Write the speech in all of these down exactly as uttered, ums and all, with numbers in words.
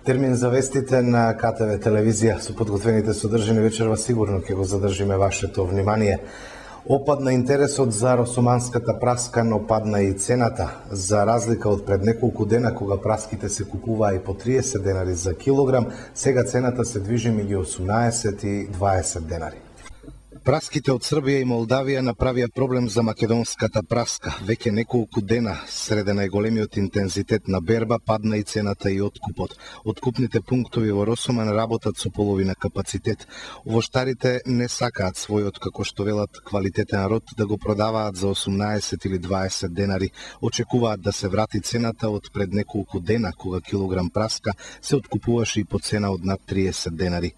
Термин за вестите на К Т В телевизија со подготвените содржини вечерва сигурно ќе го задржиме вашето внимание. Опадна интересот за росоманската праска, но падна и цената. За разлика од пред неколку дена кога праските се купуваа и по триесет денари за килограм, сега цената се движи меѓу осумнаесет и дваесет денари. Праските од Србија и Молдавија направија проблем за македонската праска. Веќе неколку дена, среде најголемиот интензитет на берба, падна и цената и откупот. Откупните пунктови во Росоман работат со половина капацитет. Овоштарите не сакаат својот, како што велат, квалитетен род да го продаваат за осумнаесет или дваесет денари. Очекуваат да се врати цената од пред неколку дена, кога килограм праска се откупуваше и по цена од над триесет денари.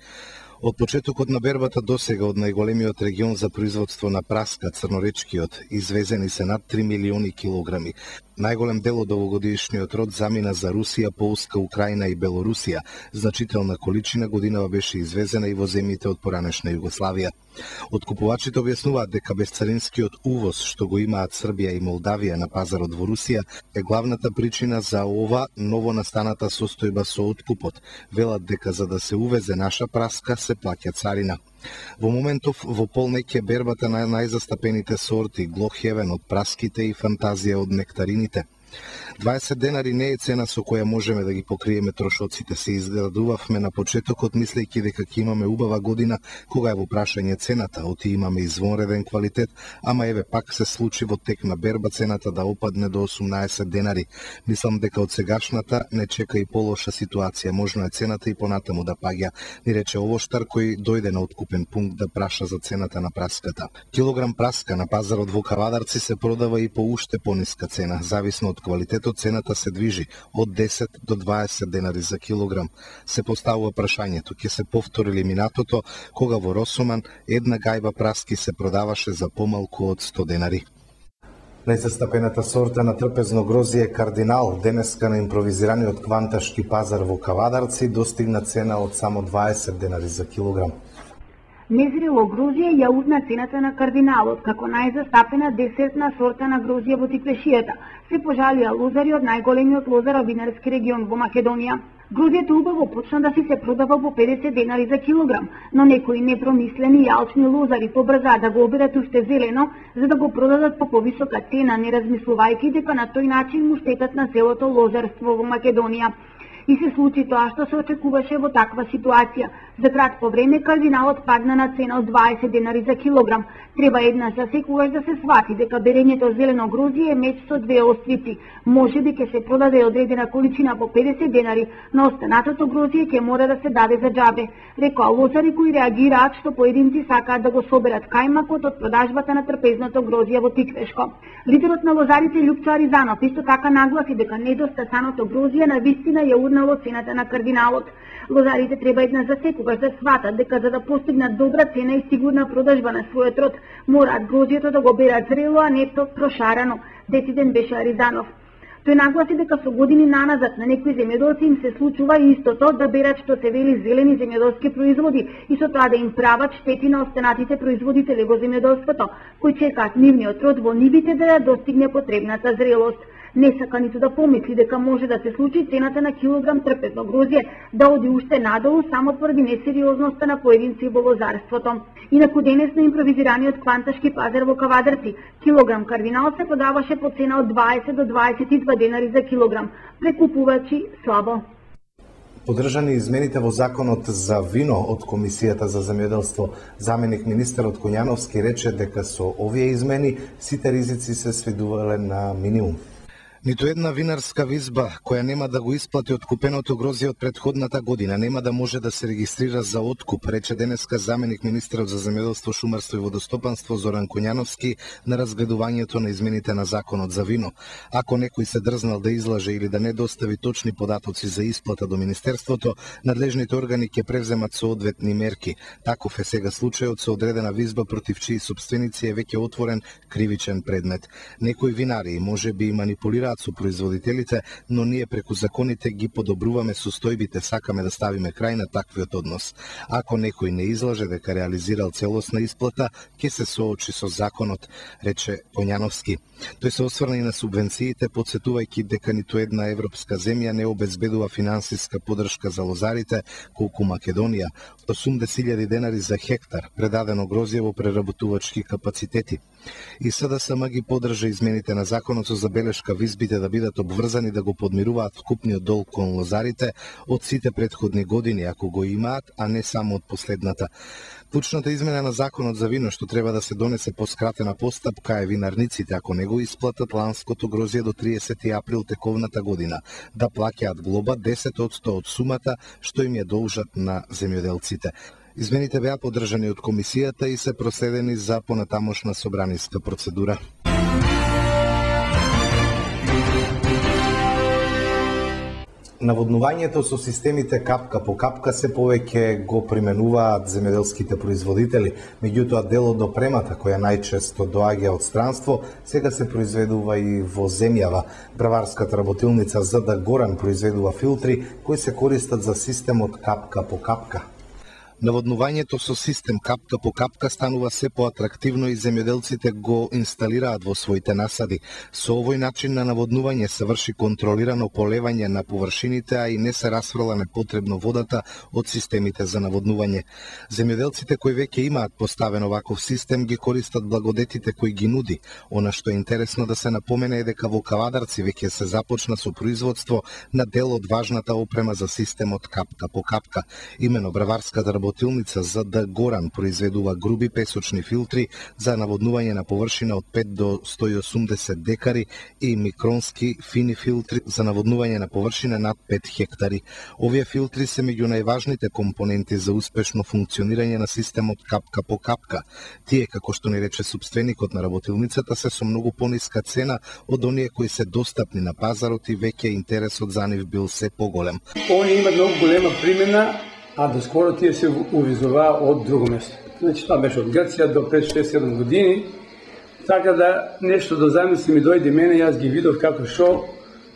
Од почетокот на бербата досега од најголемиот регион за производство на праска, Црноречкиот, извезени се над три милиони килограми. Најголем дел од овогодишниот род замина за Русија, Полска, Украина и Белорусија. Значителна количина годинава беше извезена и во земјите од поранешна Југославија. Откупувачите објаснуваат дека безцаринскиот увоз што го имаат Србија и Молдавија на пазарот во Русија е главната причина за ова ново настаната состојба со откупот. Велат дека за да се увезе наша праска се плаќа царина. Во моментов во полнеќе бербата на најзастапените сорти, Глохевен од праските и Фантазија од нектарините. дваесет денари не е цена со која можеме да ги покриеме трошоците. Се изградувавме на почетокот мислејќи дека ќе имаме убава година кога е во прашање цената, оти имаме извонреден квалитет, ама еве пак се случи во тек на берба цената да опадне до осумнаесет денари. Мислам дека од сегашната не чека и полоша ситуација, можно е цената и понатаму да паѓа, ни рече овоштар кој дојде на откупен пункт да праша за цената на праската. Килограм праска на пазарот во Кавадарци се продава и по уште пониска цена, зависно од квалитетот цената се движи од десет до дваесет денари за килограм. Се поставува прашањето, ќе се повтори ли минатото, кога во Росоман една гајба праски се продаваше за помалку од сто денари. Најзастапената сорта на трпезно грозје Кардинал, денеска на импровизираниот кванташки пазар во Кавадарци, достигна цена од само дваесет денари за килограм. Незрело грозје ја узна цената на Кардиналот, како најзастапена десертна сорта на грозје во Тиквешијата. Се пожалија лозари од најголемиот лозаро-винарски регион во Македонија. Грозјето убаво почна да си се продава по педесет денари за килограм, но некои непромислени и алчни лозари побрзаа да го оберат уште зелено, за да го продадат по повисока цена, не размислувајќи дека на тој начин му штетат на селото лозарство во Македонија. И се случи тоа што се очекуваше во таква ситуација. За кратко време Кардиналот падна на цена од дваесет денари за килограм. Треба еднаш за секогаш да се свати дека берењето зелено грозје е меч со две острици. Може би ќе се продаде одредена количина по педесет денари, но останатото грозје ќе мора да се даде за џабе. Рекоа лозари кои реагираат што поединци сакаат да го соберат кајмакот од продажбата на трпезното грозје во Тиквешко. Лидерот на лозарите Љупчо Аризанов исто така нагласи дека недостасаното грозје на вистина ја урнало цената на Кардиналот. Лозарите треба еднаш за секогаш да сватат дека за да постигнат добра цена и сигурна продажба на својот род, мораат грозјето да го берат зрело, а не прошарано. Дециден беше Аризанов. Тој нагласи дека со години наназад на некои земјоделци им се случува истото, да берат што се вели зелени земјоделски производи и со тоа да им прават штети на останатите производители во земјоделството, кои чекаат нивниот род во нивите да ја достигне потребната зрелост. Не сака ниту да помисли дека може да се случи цената на килограм трпезно грозје да оди уште надолу само поради несериозноста на поединци во лозарството. Инаку денес на импровизираниот кванташки пазар во Кавадарци, килограм Кардинал се продаваше по цена од дваесет до дваесет и два денари за килограм. Прекупувачи слабо. Подржани измените во законот за вино од Комисијата за земјоделство, заменик министерот Коњановски рече дека со овие измени сите ризици се сведувале на минимум. Ниту една винарска визба која нема да го исплати откупеното грозје од претходната година нема да може да се регистрира за откуп, рече денеска заменик министерот за земјоделство, шумарство и водостопанство Зоран Коњановски на разгледувањето на измените на законот за вино. Ако некој се дрзнал да излаже или да не достави точни податоци за исплата до министерството, надлежните органи ќе превземат соодветни мерки. Таков е сега случајот со одредена визба против чии сопственици е веќе отворен кривичен предмет. Некои винари може би манипулираат договараат со производителите, но ние преку законите ги подобруваме состојбите, сакаме да ставиме крај на таквиот однос. Ако некој не излаже дека реализирал целосна исплата, ќе се соочи со законот, рече Поњановски. Тој се осврна и на субвенциите, потсетувајќи дека ниту една европска земја не обезбедува финансиска подршка за лозарите, колку Македонија, осумдесет илјади денари за хектар, предадено грозје во преработувачки капацитети. И СДСМ ги поддржа измените на законот со забелешка визбите да бидат обврзани да го подмируваат вкупниот долг кон лозарите од сите претходни години, ако го имаат, а не само од последната. Клучната измена на законот за вино што треба да се донесе по скратена постапка е винарниците, ако не го исплатат ланското грозје до триесети април тековната година, да плаќаат глоба десет одсто од сумата што им ја должат на земјоделците. Измените беа поддржани од комисијата и се проследени за понатамошна собраниска процедура. Наводнувањето со системите капка по капка се повеќе го применуваат земјоделските производители, меѓутоа дел од опремата која најчесто доаѓа од странство, сега се произведува и во земјава. Браварската работилница ЗД Горан произведува филтри кои се користат за системот капка по капка. Наводнувањето со систем капка по капка станува се поатрактивно и земјоделците го инсталираат во своите насади. Со овој начин на наводнување се врши контролирано полевање на површините, а и не се расфрла непотребно водата од системите за наводнување. Земјоделците кои веќе имаат поставен ваков систем ги користат благодетите кои ги нуди. Она што е интересно да се напомене е дека во Кавадарци веќе се започна со производство на дел од важната опрема за системот капка по капка. Имено Браварската работилница ЗД Горан произведува груби песочни филтри за наводнување на површина од пет до сто и осумдесет декари и микронски фини филтри за наводнување на површина над пет хектари. Овие филтри се меѓу најважните компоненти за успешно функционирање на системот капка по капка. Тие, како што ни рече собственикот на работилницата, се со многу пониска цена од оние кои се достапни на пазарот и веќе интересот за нив бил се поголем. Они имат многу голема примена, а доскоро тие се увизуваа од друго место. Значи, тоа беше од Грција до пред шест седум години. Така да нешто да замисли ми дојде мене, јас ги видов како шо,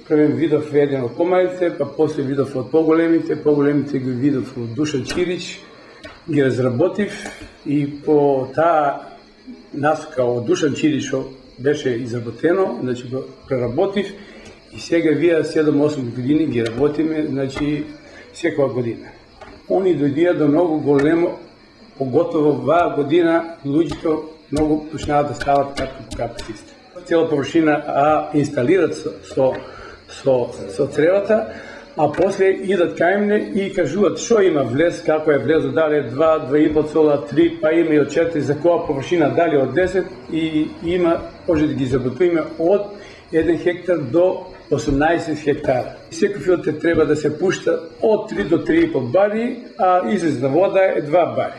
првен видов еден од помалите, па после видов од поголемите, поголемите ги видов од Душан Чирич, ги разработив и по таа насока од Душан Чирич беше изработено, значи го преработив и сега вие седум-осум години ги работиме, значи секоја година. Они дојдија до многу големо, поготово оваа година, луѓето многу почнаа да стават капка по капка систем. Цела површина а инсталират со, со, со, со цревата, а после идат кај мене и кажуваат што има влез, како е влезо, дали е два, два и по цела, три, па има и од четири, за која површина, дали од десет, и има, може да ги заботуваме од еден хектар до осумнаесет хектара. Секој филтер треба да се пушта од три до три и по бари, а излезна вода е два бари.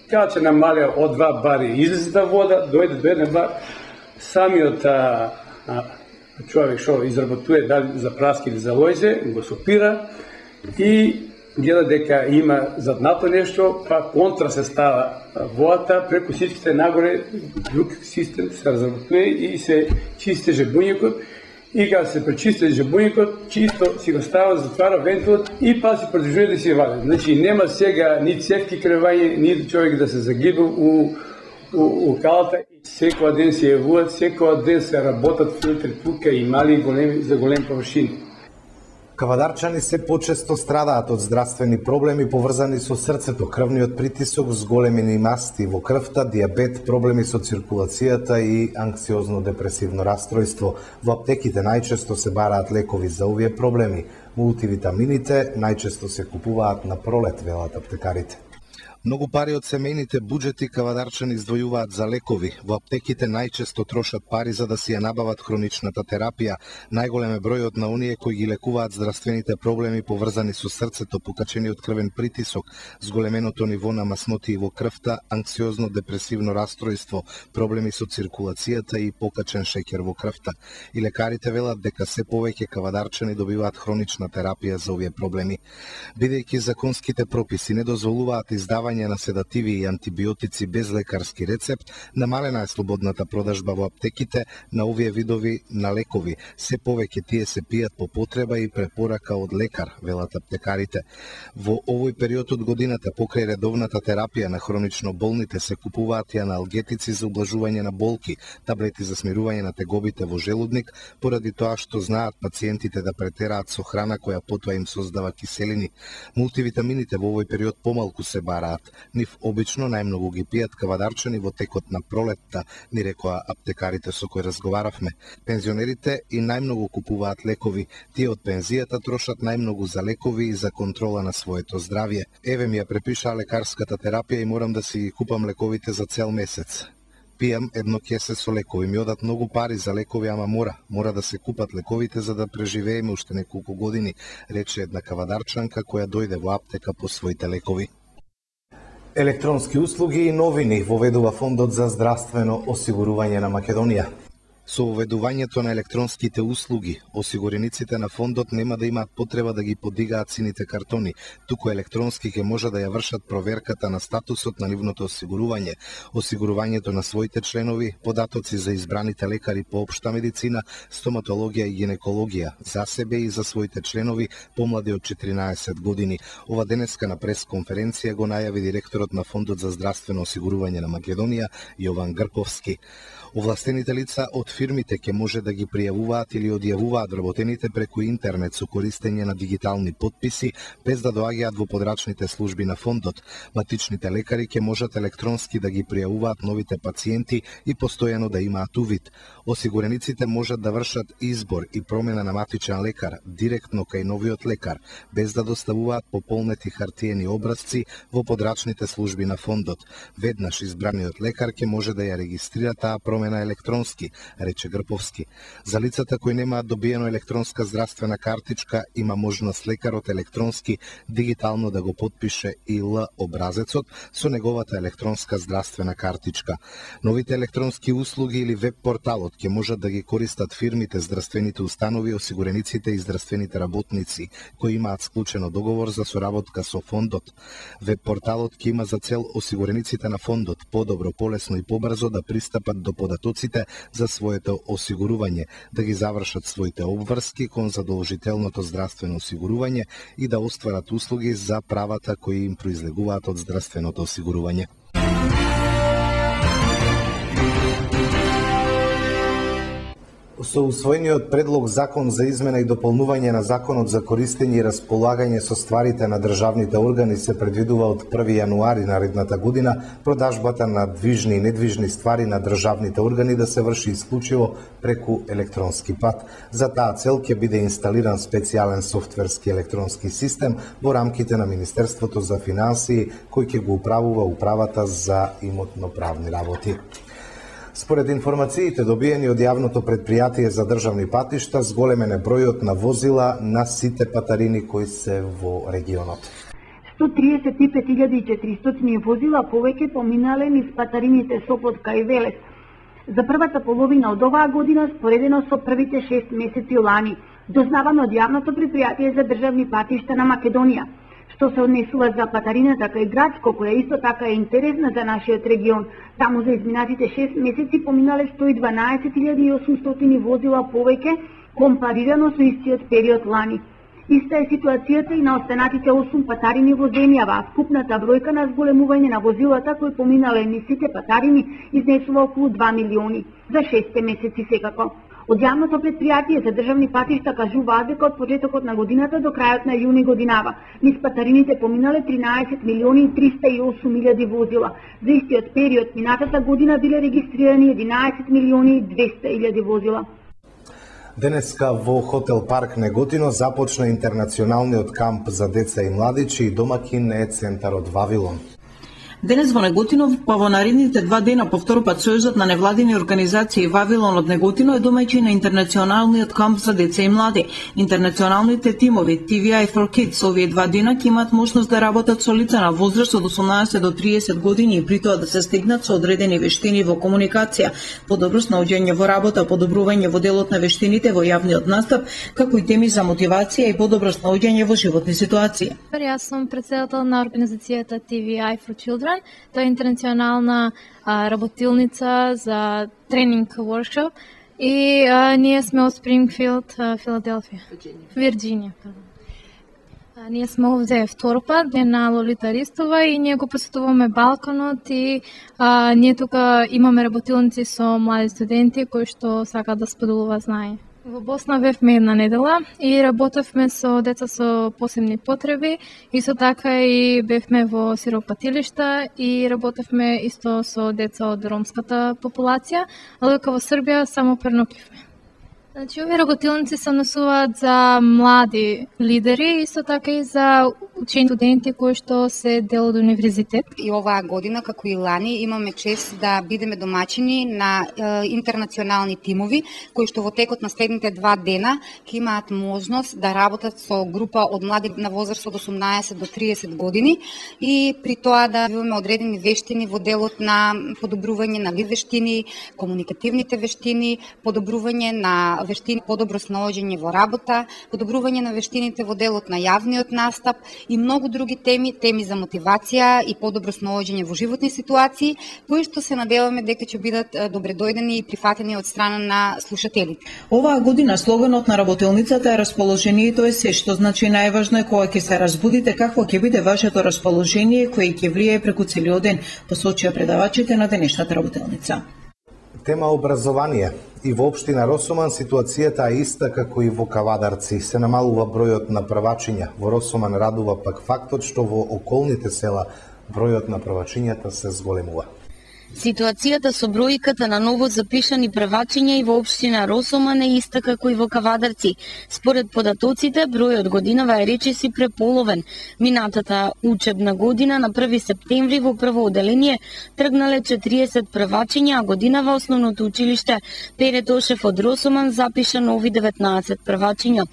Кога ќе намале од два бари излезна вода, дојде до еден бар, самиот а, а, човек што изработува дали за праски или за лојзе, го сопира и гледа дека има заднато нешто, па контра се става водата, преку сичките нагоре друг систем се разработува и се чисти жебуњекот. И кога се пречисти жебуњекот, чисто си го става, затвара вентилот и па се продолжува да си вади. Значи нема сега ни цевки кревање, ни човек да се загиба у, у, у калата. Секој ден се јавуваат, секој ден се работат филтри тука и мали и големи за големи површини. Кавадарчани се почесто страдаат од здравствени проблеми поврзани со срцето, крвниот притисок, зголемени масти во крвта, дијабет, проблеми со циркулацијата и анксиозно-депресивно расстройство. Во аптеките најчесто се бараат лекови за овие проблеми. Мултивитамините најчесто се купуваат на пролет, велат аптекарите. Многу пари од семејните буџети кавадарчани издвојуваат за лекови. Во аптеките најчесто трошат пари за да си ја набават хроничната терапија. Најголем е бројот на оние кои ги лекуваат здравствените проблеми поврзани со срцето, покачениот крвен притисок, зголеменото ниво на масноти во крвта, анксиозно-депресивно расстройство, проблеми со циркулацијата и покачен шеќер во крвта. И лекарите велат дека се повеќе кавадарчани добиваат хронична терапија за овие проблеми. Бидејќи законските прописи не дозволуваат издавање лекување на седативи и антибиотици без лекарски рецепт, намалена е слободната продажба во аптеките на овие видови на лекови. Се повеќе тие се пијат по потреба и препорака од лекар, велат аптекарите. Во овој период од годината, покрај редовната терапија на хронично болните, се купуваат и аналгетици за ублажување на болки, таблети за смирување на тегобите во желудник, поради тоа што знаат пациентите да претераат со храна која потоа им создава киселини. Мултивитамините во овој период помалку се бараат. Нив обично најмногу ги пијат кавадарчани во текот на пролетта, ни рекоа аптекарите со кои разговаравме. Пензионерите и најмногу купуваат лекови. Тие од пензијата трошат најмногу за лекови и за контрола на своето здравје. Еве ми ја препишаа лекарската терапија и морам да си ги купам лековите за цел месец. Пијам едно кесе со лекови, ми одат многу пари за лекови, ама мора. Мора да се купат лековите за да преживееме уште неколку години, рече една кавадарчанка која дојде во аптека по своите лекови. Електронски услуги и новини воведува Фондот за здравствено осигурување на Македонија. Со воведувањето на електронските услуги, осигурениците на фондот нема да имаат потреба да ги подигаат сините картони, туку електронски ќе може да ја вршат проверката на статусот на нивното осигурување, осигурувањето на своите членови, податоци за избраните лекари по општа медицина, стоматологија и гинекологија, за себе и за своите членови помлади од четиринаесет години. Ова денеска на пресконференција го најави директорот на Фондот за здравствено осигурување на Македонија, Јован Грповски. Овластените лица од фирмите ќе може да ги пријавуваат или одјавуваат вработените преку интернет со користење на дигитални потписи, без да доаѓаат во подрачните служби на фондот. Матичните лекари ќе можат електронски да ги пријавуваат новите пациенти и постојано да имаат увид. Осигурениците можат да вршат избор и промена на матичен лекар директно кај новиот лекар, без да доставуваат пополнети хартиени образци во подрачните служби на фондот. Веднаш избраниот лекар ќе може да ја регистрира таа промена на електронски, рече Грповски. За лицата кои немаат добиено електронска здравствена картичка, има можност лекарот електронски дигитално да го потпише и Л образецот со неговата електронска здравствена картичка. Новите електронски услуги или веб порталот ќе можат да ги користат фирмите, здравствените установи, осигурениците и здравствените работници кои имаат склучено договор за соработка со фондот. Веб порталот ќе има за цел осигурениците на фондот подобро, полесно и побрзо да пристапат до податоците за своето осигурување, да ги завршат своите обврски кон задолжителното здравствено осигурување и да остварат услуги за правата кои им произлегуваат од здравственото осигурување. Со усвоениот предлог закон за измена и дополнување на законот за користење и располагање со стварите на државните органи се предвидува од први јануари наредната година продажбата на движни и недвижни ствари на државните органи да се врши исклучиво преку електронски пат. За таа цел ќе биде инсталиран специјален софтверски електронски систем во рамките на Министерството за финансии кој ќе го управува управата за имотно-правни работи. Според информациите добиени од јавното предпријатие за државни патишта, зголемен е бројот на возила на сите патарини кои се во регионот. сто триесет и пет илјади и четиристотини возила повеќе поминале низ патарините Сопотка и Велес за првата половина од оваа година споредено со првите шест месеци лани, дознавано од јавното предпријатие за државни патишта на Македонија. Што се однесува за патарината кај Градско, која исто така е интересна за нашиот регион. Таму за изминатите шест месеци поминале сто и дванаесет илјади и осумстотини возила повеќе, компарирано со истиот период лани. Иста е ситуацијата и на останатите осум патарини во земјава, а скупната бројка на зголемување на возилата кои поминале низ сите патарини изнесува околу два милиони, за шест месеци секако. Од јавното предпријатие за државни патишта кажуваат дека од почетокот на годината до крајот на јуни годинава низ патарините поминале тринаесет милиони и триста и осум илјади возила. За истиот период минатата година биле регистрирани единаесет милиони и двеста илјади возила. Денеска во Хотел Парк Неготино започна интернационалниот камп за деца и младичи и домакин е центарот Вавилон. Денес во Неготино, па во наредните два дена повторно пат Сојузот на невладини организации Вавилон од Неготино е домаќин на интернационалниот камп за деца и млади. Интернационалните тимови Ти Ви Ај for Kids овие два дена ќе имаат можност да работат со лица на возраст од осумнаесет до триесет години и при тоа да се стигнат со одредени вештини во комуникација, подобро снаоѓање во работа, подобрување во делот на вештините во јавниот настап, како и теми за мотивација и подобро снаоѓање во животни ситуации. Јас сум председател на организацијата Ти Ви Ај for Children. Тоа е интернационална а, работилница за тренинг воркшоп и а, ние сме од Спрингфилд, Филаделфија. Вирџинија. А, ние сме овде втор пат, на Лолита Ристова и ние го посетуваме Балканот и а, ние тука имаме работилници со млади студенти кои што сакаат да споделуваат знание. Во Босна бевме една недела и работевме со деца со посебни потреби, исто така и бевме во сиропатилишта и работевме исто со деца од ромската популација, а дека во Србија само пернокивме. Значи, овие работилници се однесуваат за млади лидери, исто така и за учени студенти кои што се дел од универзитет. И оваа година, како и лани, имаме чест да бидеме домаќини на е, интернационални тимови, кои што во текот на следните два дена ќе имаат можност да работат со група од млади на возраст од осумнаесет до триесет години и при тоа да имаме одредени вештини во делот на подобрување на вештини, комуникативните вештини, подобрување на вештини подобро снаоѓање во работа, подобрување на вештините во делот на јавниот настап и многу други теми, теми за мотивација и подобро снаоѓање во животни ситуации, кои што се надеваме дека ќе бидат добредојдени и прифатени од страна на слушателите. Оваа година слоганот на работилницата е расположението е се, што значи најважно е кога ќе се разбудите какво ќе биде вашето расположение кое ќе влијае преку целиот ден, посочија предавачите на денешната работилница. Тема образование. И во општина Росоман ситуацијата е иста како и во Кавадарци. Се намалува бројот на првачиња. Во Росоман радува пак фактот што во околните села бројот на првачињата се зголемува. Ситуацијата со бројката на ново запишани првачиња и во општина Росоман е иста како и во Кавадарци. Според податоците, бројот годинава е речиси преполовен. Минатата учебна година на први септември во прво оделение тргнале четириесет првачиња, а годинава основното училиште Пере Тошев од Росоман запиша нови деветнаесет првачиња.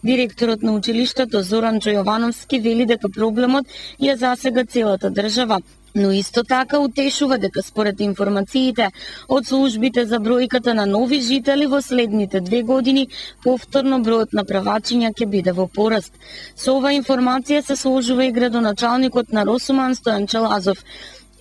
Директорот на училиштето Зоран Джојовановски вели дека проблемот ја засега целата држава, но исто така утешува дека според информациите од службите за бројката на нови жители во следните две години повторно бројот на првачиња ќе биде во пораст. Со оваа информација се сложува и градоначалникот на Росоман Стојан Челазов.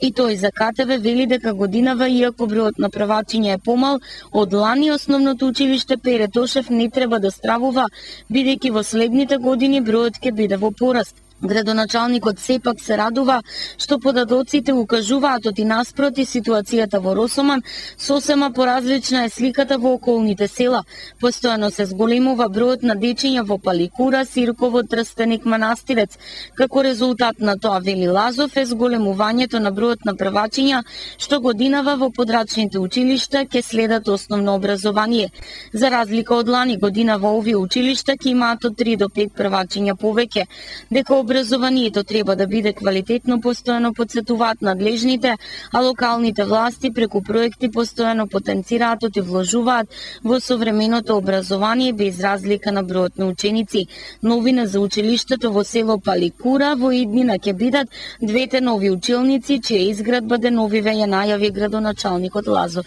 И тој за Ка Те Ве вели дека годинава, иако бројот на првачиња е помал, од лани основното училиште Пере Тошев не треба да стравува, бидејќи во следните години бројот ќе биде во пораст. Градоначалникот сепак се радува што податоците укажуваат оти наспроти ситуацијата во Росоман сосема поразлична е сликата во околните села. Постојано се зголемува бројот на дечиња во Паликура, Сирково, Трстеник, Манастирец. Како резултат на тоа, вели Лазов, е зголемувањето на бројот на првачиња што годинава во подрачните училишта ќе следат основно образование. За разлика од лани, годинава овие училишта ќе имаат од три до пет првачиња повеќе. Дека образованието треба да биде квалитетно, постојано потсетуваат надлежните, а локалните власти преку проекти постојано потенцираат и вложуваат во современото образование без разлика на бројот на ученици. Новина за училиштето во село Паликура во иднина ќе бидат двете нови училници, чија изградба деновиве ја најави градоначалникот Лазов.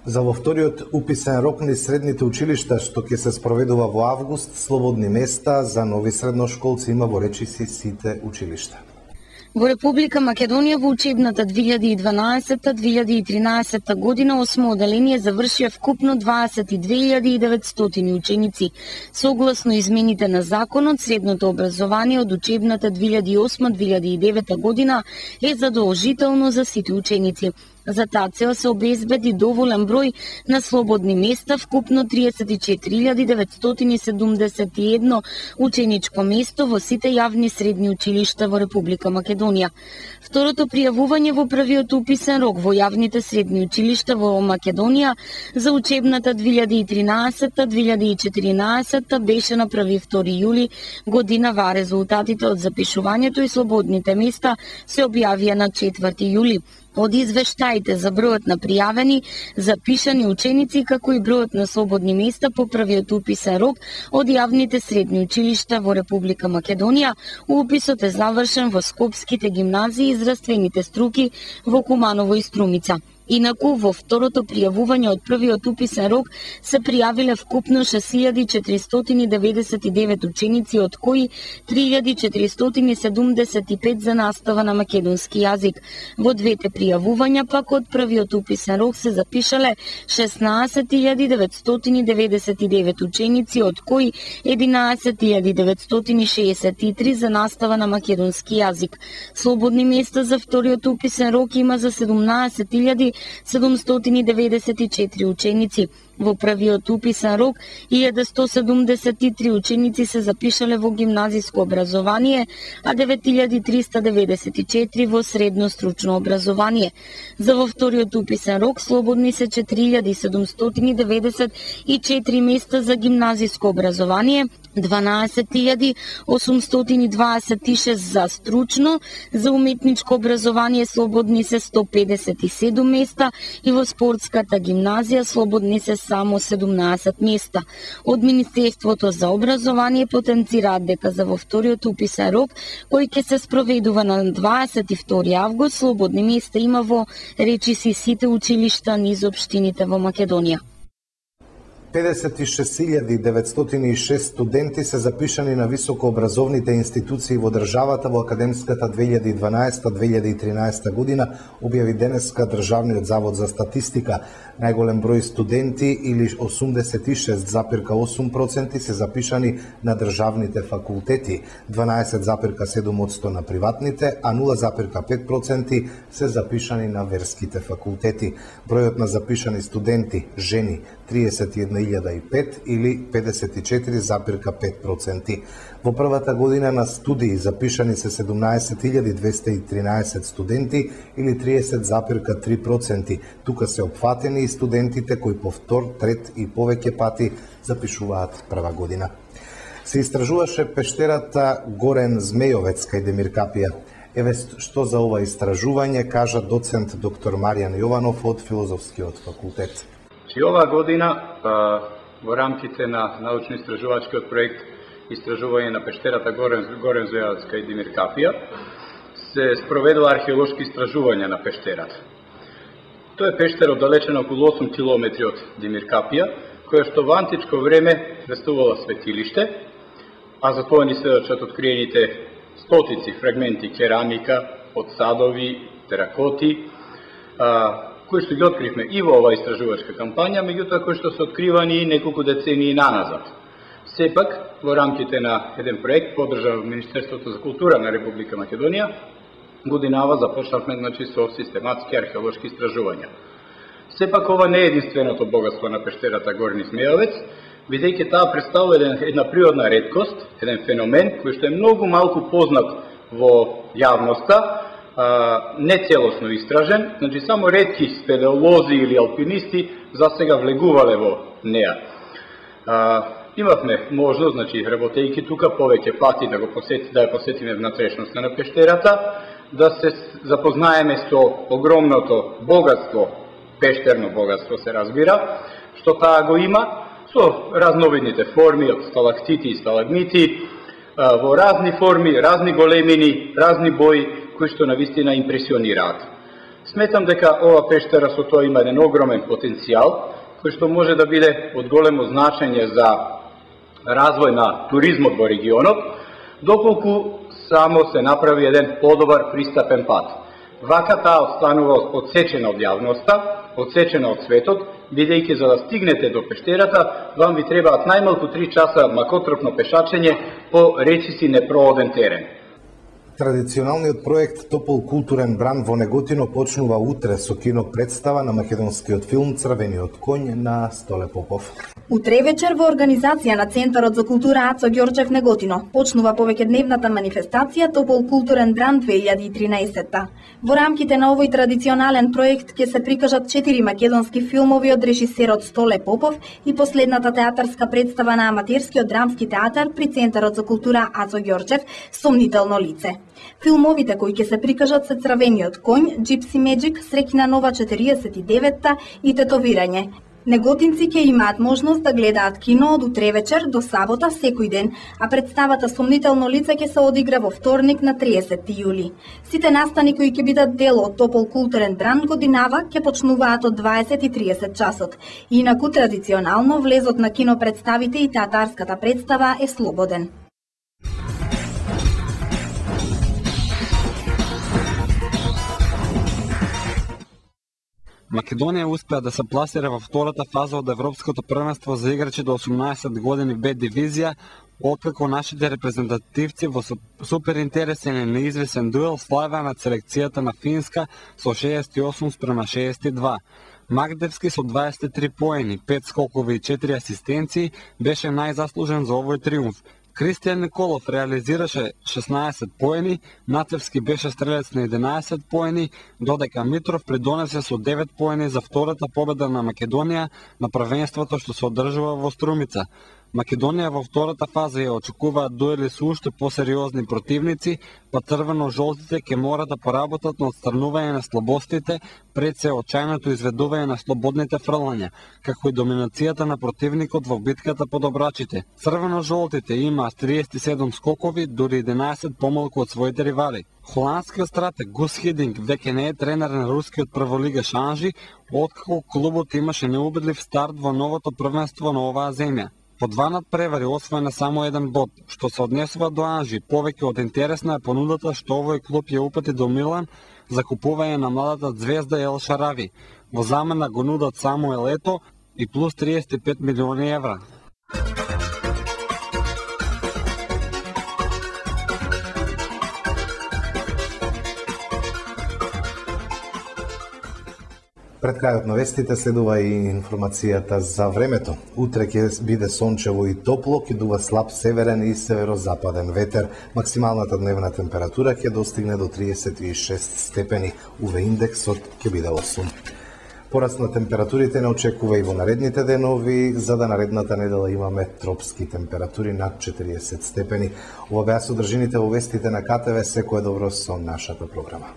За во вториот уписен рок низ средните училишта, што ќе се спроведува во август, слободни места за нови средношколци има во речиси сите училишта. Во Република Македонија во учебната две илјади и дванаесетта две илјади и тринаесетта година осмо оделение завршија вкупно дваесет и две илјади и деветстотини ученици. Согласно измените на законот, средното образование од учебната две илјади и осма две илјади и девета година е задолжително за сите ученици. За таа цел се обезбеди доволен број на слободни места, вкупно триесет и четири илјади деветстотини седумдесет и едно ученичко место во сите јавни средни училишта во Република Македонија. Второто пријавување во првиот уписен рок во јавните средни училишта во Македонија за учебната две илјади и тринаесетта две илјади и четиринаесетта беше на први и втори јули годинава, резултатите од запишувањето и слободните места се објавија на четврти јули. Од извештаите за бројот на пријавени, запишани ученици, како и бројот на слободни места по првиот уписен рок од јавните средни училишта во Република Македонија, уписот е завршен во скопските гимназии и здравствените струки во Куманово и Струмица. Инаку, во второто пријавување од првиот уписен рок се пријавиле вкупно шест илјади четиристотини деветдесет и девет ученици, од кои три илјади четиристотини седумдесет и пет за настава на македонски јазик. Во двете пријавувања пак од првиот уписен рок се запишале шеснаесет илјади деветстотини деветдесет и девет ученици, од кои единаесет илјади деветстотини шеесет и три за настава на македонски јазик. Слободни места за вториот уписен рок има за седумнаесет илјади седумстотини деветдесет и четири ученици. Во првиот уписен рок илјада сто седумдесет и три ученици се запишале во гимназиско образование, а девет илјади триста деветдесет и четири во средно стручно образование. За во вториот уписен рок слободни се четири илјади седумстотини деветдесет и четири места за гимназиско образование, дванаесет илјади осумстотини дваесет и шест за стручно, за уметничко образование слободни се сто педесет и седум места и во спортската гимназија слободни се само седумнаесет места. Од Министерството за образование потенцираат дека за во вториот уписен рок, кој ќе се спроведува на дваесет и втори август, слободни места има во речиси сите училишта низ општините во Македонија. педесет и шест илјади деветстотини и шест студенти се запишани на високообразовните институции во државата во академската две илјади и дванаесетта две илјади и тринаесетта година, објави денеска Државниот завод за статистика. Најголем број студенти или осумдесет и шест зарез осум проценти се запишани на државните факултети, дванаесет зарез седум одсто на приватните, а нула зарез пет проценти се запишани на верските факултети. Бројот на запишани студенти, жени, триесет и една илјада и пет или педесет и четири зарез пет проценти. Во првата година на студии запишани се седумнаесет илјади двесте и тринаесет студенти или триесет зарез три проценти. Тука се опфатени и студентите кои по втор, трет и повеќе пати запишуваат прва година. Се истражуваше пештерата Горен Змејовец кај Демир Капија. Еве што за ова истражување кажа доцент доктор Маријан Јованов од Филозофскиот факултет. И оваа година во рамките на научно-истражувачкиот проект Истражување на пештерата Горен, Горен Змејовец кај Демир Капија се спроведува археолошки истражувања на пештерата. Тоа е пештера оддалечена околу осум километри од Демир Капија, која што во античко време представувала светилиште, а за тоа ни сведочат откриените стотици фрагменти керамика од садови, теракоти, кои што ги откривме и во оваа истражувачка кампања, меѓутоа кои што се откривани неколку децении наназад. Сепак, во рамките на еден проект поддржан од Министерството за култура на Република Македонија, годинава започнавме значи со систематски археолошки истражувања. Сепак ова не е единственото богатство на пештерата Горен Змејовец, бидејќи таа представува една природна реткост, еден феномен кој што е многу малку познат во јавноста, не целосно истражен, значи само ретки спелеолози или алпинисти засега влегувале во неа. Имавме можност, значи работејќи тука повеќе пати да го посети, да ја посетиме внатрешноста на пештерата, да се запознаеме со огромното богатство, пештерно богатство се разбира, што таа го има, со разновидните форми од сталактити и сталагмити, во разни форми, разни големини, разни бои, кои што навистина импресионираат. Сметам дека ова пештера со тоа има еден огромен потенцијал, кој што може да биде од големо значење за развој на туризмот во регионот, доколку само се направи еден подобар пристапен пат. Вака таа останува одсечена од јавноста, одсечена од светот, бидејќи за да стигнете до пештерата, вам ви требаат најмалку три часа макотропно пешачење по речиси непрооден терен. Традиционалниот проект Топол културен бран во Неготино почнува утре со кино представа на македонскиот филм Црвениот коњ на Столе Попов. Утре вечер во организација на Центарот за култура Ацо Ѓорчев Неготино почнува повеќедневната манифестација Топол културен бран две илјади и тринаесетта. Во рамките на овој традиционален проект ќе се прикажат четири македонски филмови од режисерот Столе Попов и последната театарска представа на аматерскиот драмски театар при Центарот за култура Ацо Ѓорчев Сомнително лице. Филмовите кои ќе се прикажат се Црвениот коњ, Gypsy Magic, Среќна нова четириесет и деветта и Тетовирање. Неготинци ќе имаат можност да гледаат кино од утре вечер до сабота секој ден, а представата Сомнително лице ќе се одигра во вторник на триесетти јули. Сите настани кои ќе бидат дел од Топол културен бран годинава ќе почнуваат од дваесет и триесет часот. Инаку традиционално влезот на кино представите и театарската представа е слободен. Македонија успеа да се пласира во втората фаза од Европското првенство за играчи до осумнаесет години Б дивизија, откако нашите репрезентативци во суперинтересен и неизвесен дуел славеа над селекцијата на Финска со шеесет и осум спрема шеесет и два. Магдевски со дваесет и три поени, пет скокови и четири асистенции беше најзаслужен за овој триумф. Кристијан Николов реализираше шеснаесет поени, Нацевски беше стрелец на единаесет поени, додека Митров придонесе со девет поени за втората победа на Македонија на првенството што се одржува во Струмица. Македонија во втората фаза ја очекуваат дуели со уште посериозни противници, па црвено-жолтите ќе мора да поработат на отстранување на слабостите пред се очајното изведување на слободните фрлања, како и доминацијата на противникот во битката по добрачите. Црвено-жолтите имаат триесет и седум скокови, дури единаесет помалку од своите ривали. Холандскиот стратег Гус Хидинг веќе не е тренер на рускиот прволигаш Анжи, откако клубот имаше неубедлив старт во новото првенство на оваа земја. По два надпревари освоена само еден бод, што се однесува до Анжи. Повеќе од интересна е понудата што овој клуб ја упати до Милан за купување на младата звезда Ел Шарави. Во замена го нудат само Елето и плюс триесет и пет милиони евра. Пред крајот на вестите следува и информацијата за времето. Утре ќе биде сончево и топло, ќе дува слаб северен и северозападен ветер. Максималната дневна температура ќе достигне до триесет и шест степени. ю ви индексот ќе биде осум. Пораст на температурите не очекува и во наредните денови, за да наредната недела имаме тропски температури над четириесет степени. Ова беа содржините во вестите на ка те ве. Секое добро со нашата програма.